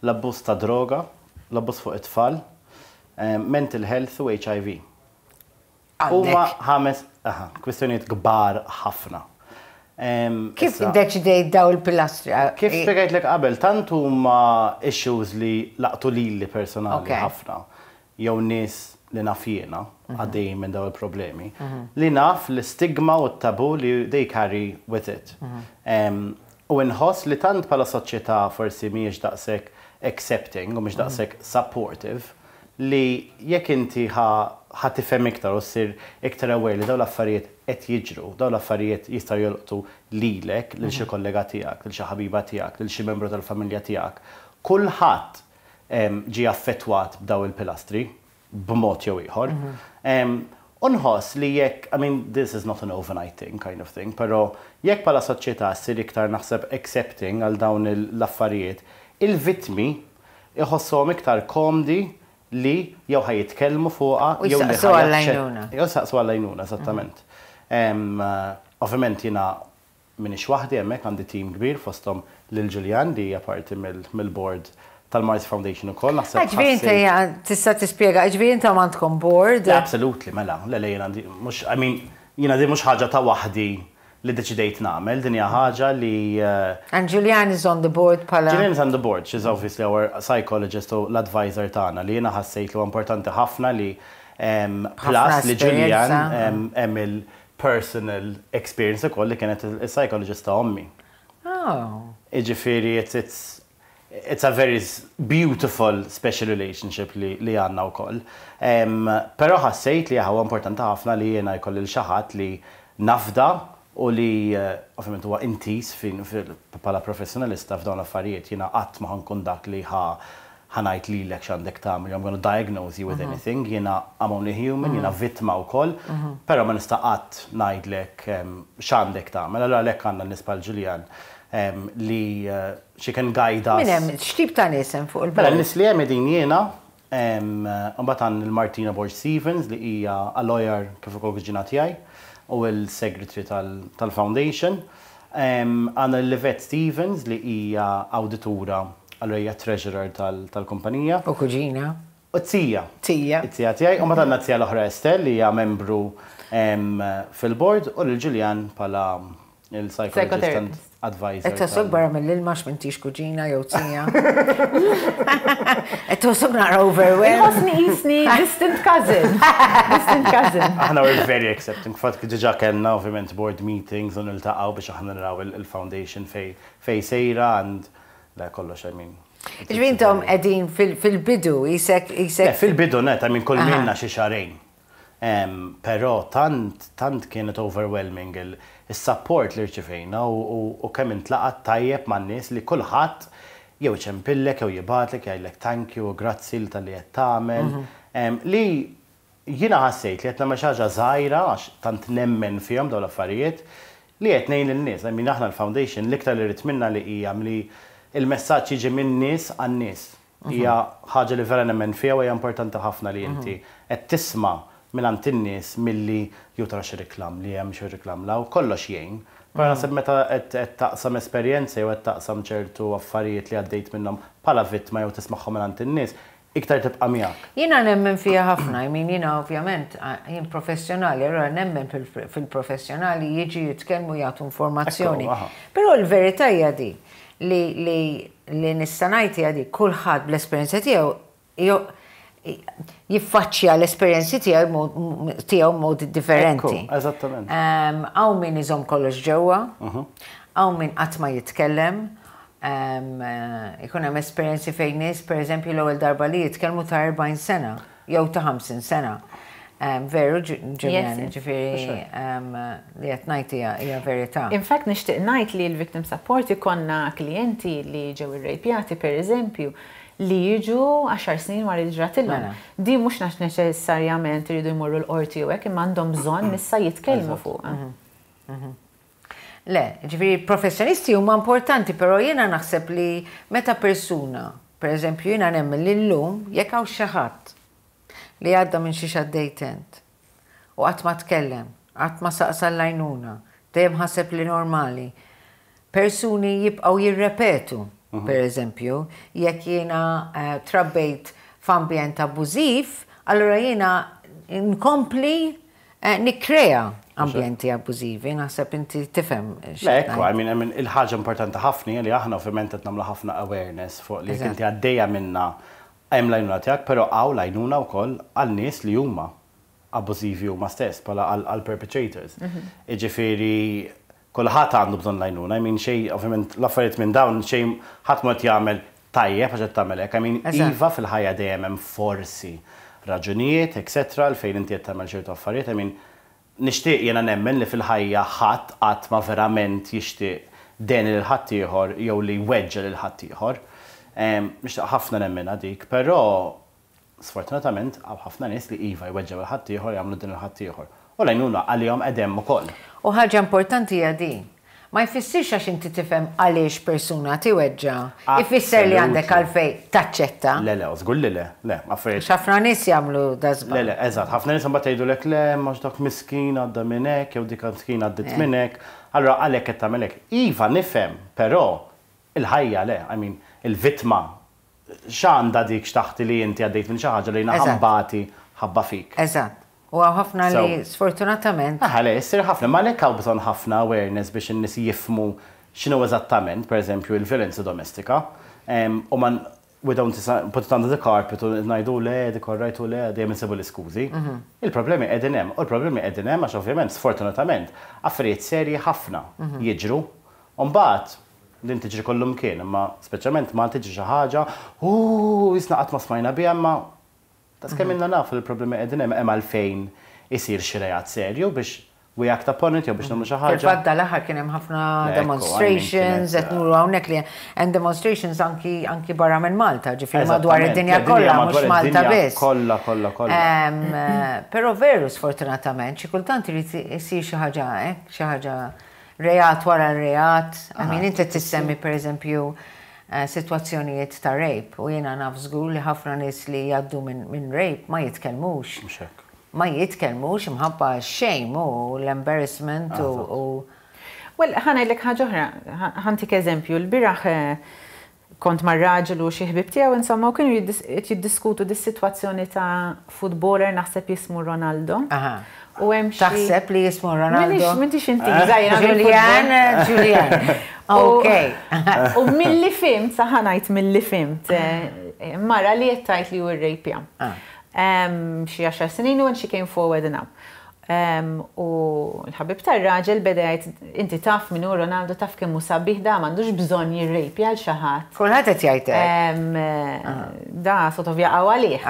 l-abbuż ta' droga, l-abbuż fuq it-tfal, mental health u HIV. Huma ħames kwistjonijiet kbar ħafna. Kif iddeċidejt daw il-pilastri? Kif spjegajtlek qabel, tant huma issues li laqtu lili personali ħafna, jew nies li naf jiena għaddejjin minn daw il-problemi, li naf l-istigma u t-tabu li they carry with it. U nħoss li tant bħala soċjetà forsi mhijiex daqshekk accepting u mhix daqshekk supportive li jekk inti ħa tifhem iktar u ssir iktar aware li dawn l-affarijiet qed jiġru, dawn l-affarijiet jistgħu jolqtu lilek, lil xi kollega tiegħek, lil xi ħabiba tiegħek, lil xi membru tal-familja tiegħek. Kulħadd ġie affettwat b'daw il-pilastri b'mod jew ieħor. U nħoss li jekk, I mean, this is not an overnight thing kind of thing, però jekk bħala soċjetà ssir iktar naħseb accepting għal dawn l-affarijiet, il-vittmi iħossuhom iktar komdi li jew ħa jitkellmu fuqha U jew li jistaqsu għall-għajnuna. Jew saqsu għall-għajnuna, eżattament. Ovvjament jiena m'iniex waħdi hemmhekk, għandi team kbir fosthom lil Julian li hija parti mill-board tal-Marcy Foundation ukoll. Naħseb Ġifieri inti tista' tispjega, ġifieri intom għandkom board. Absolutely, mela, le, jiena għandi, mhux, I mean, jiena di mhux ħaġa ta' waħdi li deċidejt nagħmel, din hija ħaġa li And Julian is on the board bħala. Julian is on the board, she's obviously our psychologist u l-advisor tagħna li jiena ħassejt li huwa importanti ħafna li plus li Julian esperjenza. Hemm il-personal experience ukoll li kienet il-psychologist ta' ommi. Oh. Iġifieri it's a very beautiful special relationship li għandna wkoll. Però ħassejt li huwa importanti ħafna li jiena jkolli lil xi ħadd li nafda u li ovvjament huwa intiż fin bħala professjonalista f'dawn l-affarijiet. Jiena qatt ma ħa nkun dak li ħa ngħid lilek x'għandek tagħmel, I'm gonna diagnose you with anything, jiena I'm only human, jiena vittma wkoll, però ma nista' qatt ngħidlek x'għandek tagħmel. Allura għalhekk għandna nies bħal Julian li she can guide us. Min hemm, x'tip ta' nies hemm fuq Mela, il-board? Nies li hemm din jiena, mbagħad għandna il-Martina Borg Stevens li hija a lawyer kif ukoll kuġina tiegħi u l-secretary tal-foundation. Għandna lil Yvette Stevens li hija awditura, allura hija treasurer tal-kumpanija. U kuġina. U t-tija. Tija. It-tija tiegħi. U mbagħad għandna t-tija l-oħra Estelle li hija membru fil-board u lil Julianne bħala il-psychologist and advisor. Qed tħossok barra mill-ilma għax m'intix kuġina jew tija? Qed tħossok naqra overwhelmed? Inħossni qisni distant cousin. Distant cousin. Aħna we're very accepting. Fatt diġà kellna ovvjament board meetings u niltaqgħu biex aħna naraw il-foundation fejn sejra and le kollox I mean. Jiġifieri intom qegħdin fil-bidu qisek qisek. Le fil-bidu nett, I mean kull minna xi xahrejn. Però tant tant kienet overwhelming is-support li rċivejna u kemm intlaqgħet tajjeb man-nies li kulħadd jew iċempillek jew jibgħatlek jgħidlek thank you u grazzi talli qed tagħmel. Li jiena ħassejt li qed nagħmel xi ħaġa żgħira għax tant nemmen fihom dawn l-affarijiet li qed ngħin lin-nies. I mean aħna l-foundation l-iktar li rrid minnha li hija li l-messaġġ jiġi min-nies għan-nies. Hija ħaġa li vera nemmen fiha u hija importanti ħafna li inti qed tisma' mingħand in-nies milli jew tara xi reklam li hemm xi reklam 'l hawn, kollox jgħin. Però naħseb meta qed taqsam esperjenza jew qed taqsam ċertu affarijiet li għaddejt minnhom bħala vittma jew tismagħhom mingħand in-nies, iktar tibqa' miegħek. Jiena nemmen fiha ħafna, I mean jiena ovvjament jien professjonali, allura nemmen fil-professjonali jiġu jitkellmu jagħtu informazzjoni. Però l-verità hija di, li li li nista' ngħid hija dik, kulħadd bl-esperjenza tiegħu jiffaċċja l-esperjenzi tiegħu tiegħu b'mod differenti. Ekku, eżattament. Hawn min iżomm kollox ġewwa, hawn min qatt ma jitkellem, ikun hemm esperjenzi fejn nies, pereżempju, l-ewwel darba li jitkellmu ta' 40 sena jew ta' 50 sena. Veru, Julianne, ġifieri li qed ngħid hija verità. In fact nixtieq ngħid li l-victim support ikollna klijenti li ġew irrejpjati pereżempju li jiġu għaxar snin wara li ġratilhom. Din mhux għax neċessarjament iridu jmorru l-qorti jew hekk imma għandhom bżonn issa jitkellmu fuqha. Le, ġifieri professjonisti huma importanti, però jiena naħseb li meta persuna, pereżempju jiena nemmen li llum jekk hawn xi ħadd li għadda minn xiex għaddejt int. U qatt ma tkellem, qatt ma saqsa l-għajnuna, dejjem ħaseb li normali. Persuni jibqgħu jirrepetu, per eżempju, jekk jiena trabbejt f'ambjent abbużiv, allura jiena nkompli nikkrea ambjenti abbużivi, naħseb inti tifhem x'qed ngħid. Le, ekku, I mean, I mean, il-ħaġa importanti ħafna hija li aħna ovvjament qed nagħmlu ħafna awareness fuq li jekk inti għaddejja minnha Hemm l-għajnuna tiegħek, però hawn l-għajnuna wkoll għal nies li huma abbużivi huma stess, bħala għall-perpetrators. Jiġifieri kulħadd għandu bżonn l-għajnuna, I mean xejn, ovvjament l-affarijiet minn dawn xejn ħadd mhu qed jagħmel tajjeb għax qed tagħmel hekk, I mean iva fil-ħajja dejjem hemm forsi raġunijiet etc għalfejn inti qed tagħmel ċertu affarijiet, I mean Nixtieq jiena nemmen li fil-ħajja ħadd qatt ma verament jixtieq deni lil ħaddieħor jew li jweġġa' lil ħaddieħor. Nixtieq ħafna nemminha dik, però sfortunatament hawn ħafna nies li iva jweġġgħu lil ħaddieħor, jagħmlu deni lil ħaddieħor. U l-għajnuna għalihom qegħda hemm ukoll. U ħaġa importanti hija din, Ma jfissirx għax inti tifhem għaliex persuna tiweġġa', ifisser li għandek għalfejn taċċetta. Le, le, żgur li le. Le, affarijiet. Għax ħafna nies jagħmlu da żball. Le, le, eżatt. Ħafna nies imbagħad jgħidulek le, imma għax dak miskin għadda minn hekk jew dik miskin għaddiet minn hekk. Allura għalhekk qed tagħmel hekk. Iva, nifhem, però il-ħajja le, I mean, il-vittma X'għandha dik x'taħti li inti għaddejt minn xi ħaġa li jiena ħa nbati ħabba fik. Eżatt. U hawn ħafna li sfortunatament. Aha, le, issir ħafna, imma għalhekk hawn bżonn ħafna awareness biex in-nies jifhmu x'inhu eżattament, pereżempju, il-vjolenza domestika. U ma we don't put it under the carpet u ngħidu le, dik all right u le, dejjem insibu l-iskużi. Il-problemi qegħdin hemm, u l-problemi qegħdin hemm għax ovvjament, sfortunatament, affarijiet serji ħafna jiġru. U mbagħad Din tiġri kullumkien, imma speċjalment Malta tiġri xi ħaġa, ooh, qisna qatt ma smajna biha imma daqskemm ilna nafu li l-problemi qegħdin hemm, hemm għalfejn isir xi reat serju biex we act upon it jew biex nagħmlu xi ħaġa. Fil-fatt dal-aħħar kien hemm ħafna demonstrations, qed nuru hawnhekk li hemm demonstrations anki anki barra minn Malta, ġifieri madwar id-dinja kollha mhux Malta biss. Kollha, kollha, kollha. Però veru sfortunatament xi kultant irid isir xi ħaġa hekk, xi ħaġa Reat wara reat, I mean inti tissemmi per eżempju sitwazzjonijiet ta' rape u jiena naf żgur li ħafna nies li jgħaddu minn rape ma jitkellmux. Mhux hekk. Ma jitkellmux imħabba x-shame u l-embarrassment u. Well, ħa ngħidlek ħaġa oħra, ħa ntik eżempju, il-bieraħ kont mar-raġel u xi ħbieb tiegħu insomma u kienu jiddiskutu dis-sitwazzjoni ta' footballer, naħseb jismu Ronaldo. U hemm xi Taħseb li jismu Ronaldo? M'intix intiża jiena. Julian, Julian. Ok. U milli fhimt, sa ħa ngħid milli fhimt, mara li qed tgħid li hu rrejpja. Xi 10 snin u and she came forward now. U l-ħabib tar-raġel beda jgħid, "Inti taf min hu Ronaldo, taf kemm hu sabiħ, da m'għandux bżonn jirrejpja għal xi ħadd. Kulħadd qed jgħid hekk. Da sort of jaqgħu għalih."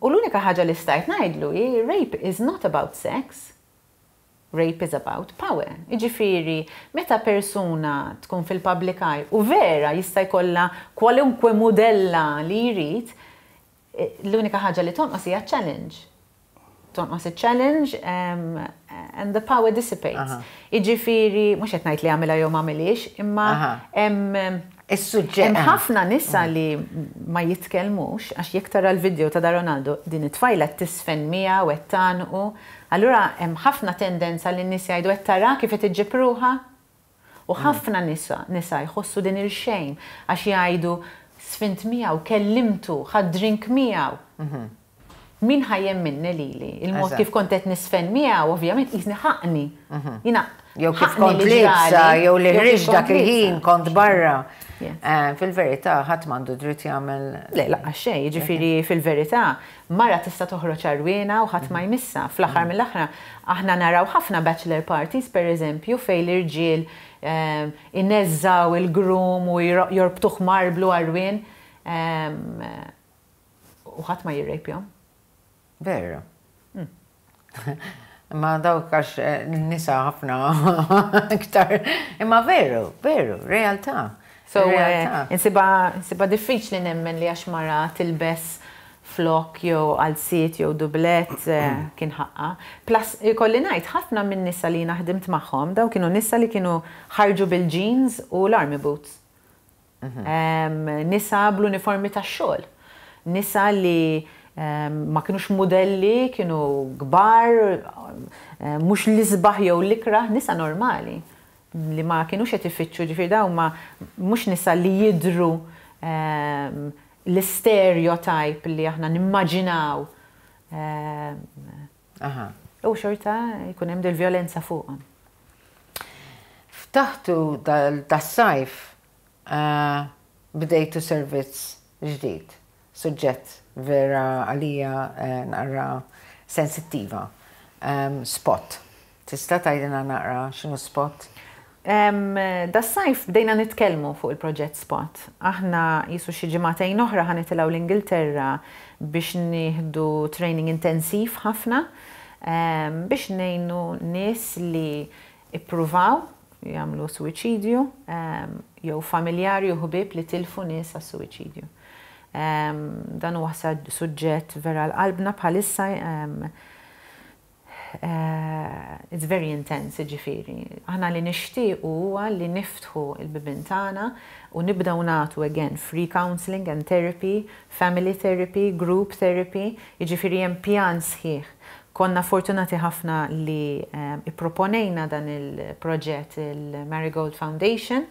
U l-unika ħaġa li stajt ngħidlu hi, "Rape is not about sex. Rape is about power." Jiġifieri, meta persuna tkun fil-public eye u vera jista' jkollha kwalunkwe mudella li jrid, l-unika ħaġa li tonqos hija challenge. Tonqos il-challenge and the power dissipates. Jiġifieri, mhux qed ngħid li għamilha jew m'għamilhiex, imma hemm Is-suġġett. Hemm ħafna nisa li ma jitkellmux għax jekk tara l-video ta' da Ronaldo, din it-tfajla tisfen miegħu qed tgħannqu. Allura hemm ħafna tendenza li n-nies jgħidu, "Qed tara kif qed iġġib ruħha?" U ħafna nisa jħossu din il-shame għax jgħidu, "Sfint miegħu, kellimtu, ħadt drink miegħu. Min ħa jemminni lili? Il-mod kif kont qed nisfen miegħu, ovvjament qisni ħaqni. Jiena Jew kif kont liebsa, jew li ħriġt dak il-ħin kont barra. Fil-verità, ħadd m'għandu dritt jagħmel. Le, lanqas xejn, jiġifieri fil-verità, mara tista' toħroġ għarwiena u ħadd ma jmissha. Fl-aħħar mill-aħħar, aħna naraw ħafna bachelor parties, pereżempju, fejn l-irġiel ineżżgħu il-groom u jorbtuh marblu għarwien u ħadd ma jirrejpjahom. Veru. Imma dawk għax nisa ħafna iktar. Imma veru, veru, realtà. So, insibha diffiċli nemmen li għax mara tilbes flok jew qalziet jew dublet kien ħaqqa. Plus, ikolli ngħid, ħafna minn nisa li jiena ħdimt magħhom, daw kienu nisa li kienu ħarġu bil-jeans u l-army boots. Nisa bl-uniformi tax-xogħol. Nisa li ma kinux modelli, kienu kbar, mhux l-isbaħ jew l-ikrah, nisa normali li ma kinux qed ifittxu, ġifieri dawn ma mhux nisa li jidhru l-stereotype li aħna nimmaġinaw. U xorta jkun hemm dil-vjolenza fuqhom. Ftaħtu das-sajf, bdejtu servizz ġdid, suġġett vera għalija naqra sensittiva. Spot. Tista' tgħidilna naqra x'inhu Spot? Das-sajf bdejna nitkellmu fuq il-proġett Spot. Aħna jisu xi ġimagħtejn oħra ħa nitilgħu l-Ingilterra biex nieħdu training intensiv ħafna biex ngħinu nies li ippruvaw jagħmlu suwiċidju jew familjari u ħbieb li tilfu nies għas-suwiċidju. Dan huwa suġġett vera għal qalbna bħalissa. It's very intense, ġifieri. Aħna li nixtiequ huwa li niftħu il-bibien tagħna u nibdew nagħtu again free counseling and therapy, family therapy, group therapy, jiġifieri hemm pjan sħiħ. Konna fortunati ħafna li ipproponejna dan il-proġett il-Marigold Foundation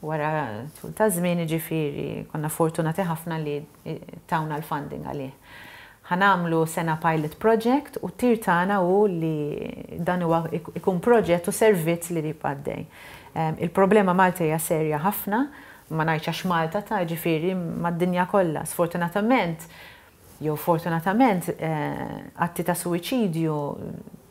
wara tul ta' żmien, jiġifieri konna fortunati ħafna li tawna l-funding għalih. Ħa nagħmlu sena pilot project u tir tagħna hu li dan huwa ikun proġett u servizz li jibqa' għaddej. Il-problema Malta hija serja ħafna, ma ngħidx għax Malta ta', ġifieri mad-dinja kollha. Sfortunatament, jew fortunatament, atti ta' suwiċidju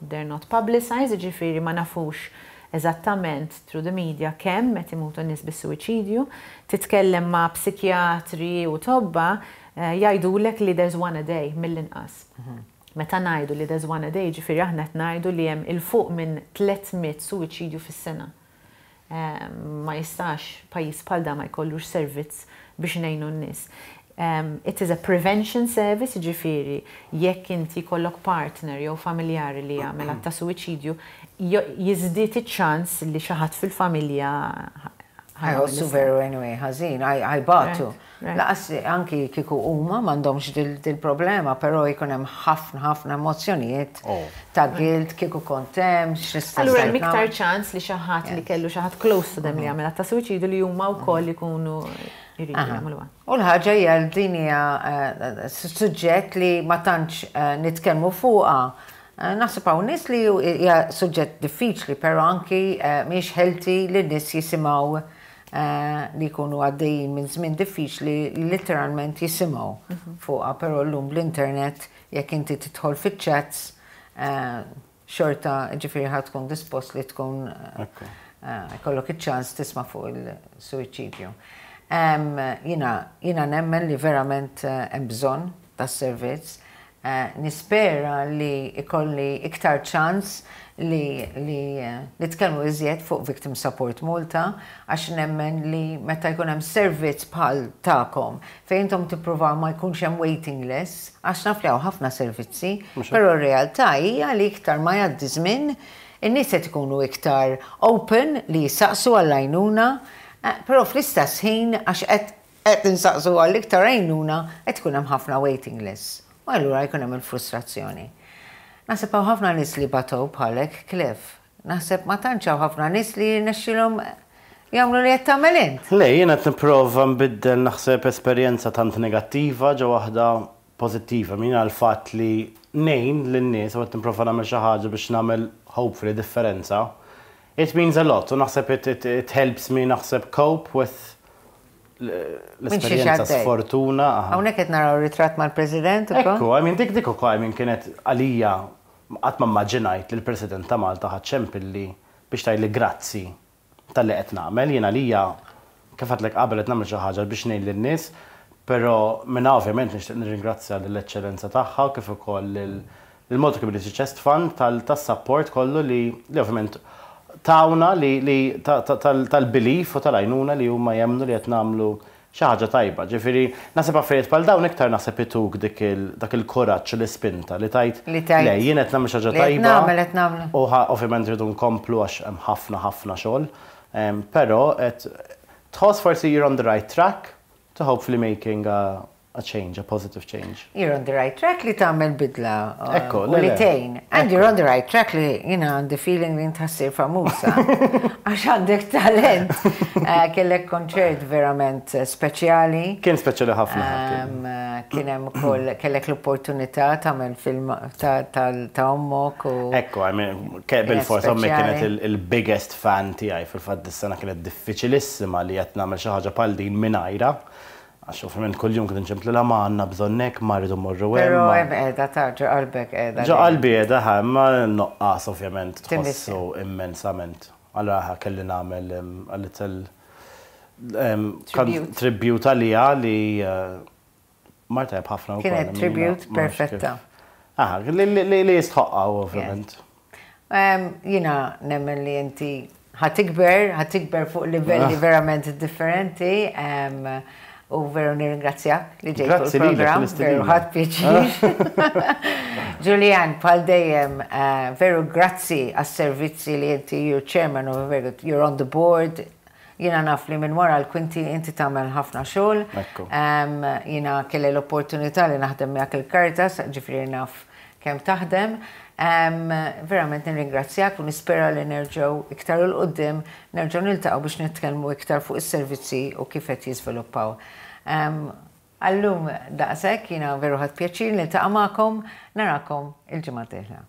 they're not publicized, ġifieri ma nafux eżattament through the media kemm qed imutu nies bis-suwiċidju. Titkellem ma' psikjatri u tobba, jgħidulek li there's one a day mill-inqas. Meta ngħidu li there's one a day, ġifieri aħna qed ngħidu li hemm 'il fuq minn 300 suwiċidju fis-sena. Ma jistax pajjiż bħal da ma jkollux servizz biex ngħinu n-nies. It is a prevention service, ġifieri, jekk inti jkollok partner jew familjari li jagħmel att ta' suwiċidju, jiżdied iċ-ċans li xi ħadd fil-familja. Ħa jħossu veru anyway ħażin, ħa jbatu. Lanqas anki kieku huma m'għandhomx dil-problema, però jkun hemm ħafna ħafna emozzjonijiet ta' guilt, kieku kont hemm, x'nista' Allura hemm iktar ċans li xi ħadd li kellu xi ħadd close to them li għamel ta' suwiċidju li huma wkoll ikunu jridu jagħmluha. U l-ħaġa hija li din hija suġġett li ma tantx nitkellmu fuqha. Naħseb hawn nies li hija suġġett diffiċli, però anki mhijiex healthy li n-nies jisimgħu li jkunu għaddejjin minn żmien diffiċli literalment jisimgħu fuqha, però llum bl-internet jekk inti tidħol fiċ-chats xorta ġifieri ħa tkun dispost li tkun ikollok iċ-ċans tisma' fuq il-suwiċidju. Jiena jiena nemmen li verament hemm bżonn tas-servizz. Nispera li ikolli iktar ċans li li nitkellmu iżjed fuq Victim Support Malta għax nemmen li meta jkun hemm servizz bħal tagħkom fejn intom tippruvaw ma jkunx hemm waiting list, għax naf li hawn ħafna servizzi, però r-realtà hija li iktar ma jgħaddi żmien, in-nies qed ikunu iktar open li jisaqsu għall-għajnuna, però fl-istess ħin għax qed qed insaqsu għal iktar għajnuna qed ikun hemm ħafna waiting lists. U allura jkun hemm il-frustrazzjoni. Naħseb hawn ħafna nies li batow bħalek, Cliff. Naħseb ma tantx hawn ħafna nies li jirnexxilhom jagħmlu li qed tagħmel int. Le, jiena qed nipprova nbiddel naħseb esperjenza tant negattiva ġo waħda pożittiva. Jiena l-fatt li ngħin lin-nies u qed nipprova nagħmel xi ħaġa biex nagħmel hopefully differenza, it means a lot u naħseb it, it, it helps me naħseb cope with l-esperjenza sfortuna. Hawnhekk qed naraw ritratt mal-President ukoll. Ekku, I mean dik dik ukoll I mean kienet għalija qatt ma immaġinajt li l-President ta' Malta ħa ċempilli biex tgħidli grazzi talli qed nagħmel. Jien għalija kif għedtlek qabel qed nagħmel xi ħaġa biex ngħin lin-nies, però minnha ovvjament nixtieq nirringrazzja lill-Eċċellenza tagħha kif ukoll lil il-Malta Community Chest Fund tas-support kollu li li ovvjament tawna li li tal-belief u tal-għajnuna li huma jemmnu li qed nagħmlu xi ħaġa tajba. Ġifieri naħseb affarijiet bħal dawn iktar naħseb ituk dik il dak il-kuraġġ u l-ispinta li tgħid le jien qed nagħmel xi ħaġa tajba u ovvjament rridu nkomplu għax hemm ħafna ħafna xogħol, però qed tħoss forsi you're on the right track to hopefully making a a change, a positive change. You're on the right track li tagħmel bidla Ekku, u li tgħin. And you're on the right track li jiena għandi feeling li int ssir famusa. Għax għandek talent. Kellek konċert verament speċjali. Kien speċjali ħafna. Kien hemm ukoll kellek l-opportunità tagħmel film ta' ommok u. Ekku, I mean, bil-fors ommi kienet il-biggest fan tiegħi fil-fatt dis-sena kienet diffiċilissima li qed nagħmel xi ħaġa bħal din mingħajrha. Għax ovvjament kuljum kien inċemplilha ma għandna bżonnek, ma rridu mmorru hemm. Però hemm qiegħda ta' ġo qalbek qiegħda. Ġo qalbi qiegħda ħa, imma n-nuqqas ovvjament tħossu immensament. Allura ħa kelli nagħmel a little tribute għaliha li mar tajjeb ħafna wkoll. Kienet tribute perfetta. Aha, li jistħoqqha ovvjament. Jiena nemmen li inti ħa tikber, ħa tikber fuq livelli verament differenti. U veru nirringrazzjak li ġejt fuq il-programm, veru ħadt pjaċir. Julian, bħal dejjem, veru grazzi għas-servizzi li inti you're chairman of a very good, you're on the board. Jiena naf li minn wara l-kwinti inti tagħmel ħafna xogħol. Jiena kelli l-opportunità li naħdem miegħek il-Caritas, ġifieri naf kemm taħdem. Verament nirringrazzjak u nispera li nerġgħu iktar 'il quddiem nerġgħu niltaqgħu biex nitkellmu iktar fuq is-servizzi u kif qed jiżviluppaw. Għallum daqshekk jiena veru ħadt pjaċir niltaqa' magħkom, narakom il-ġimgħa d-dieħla.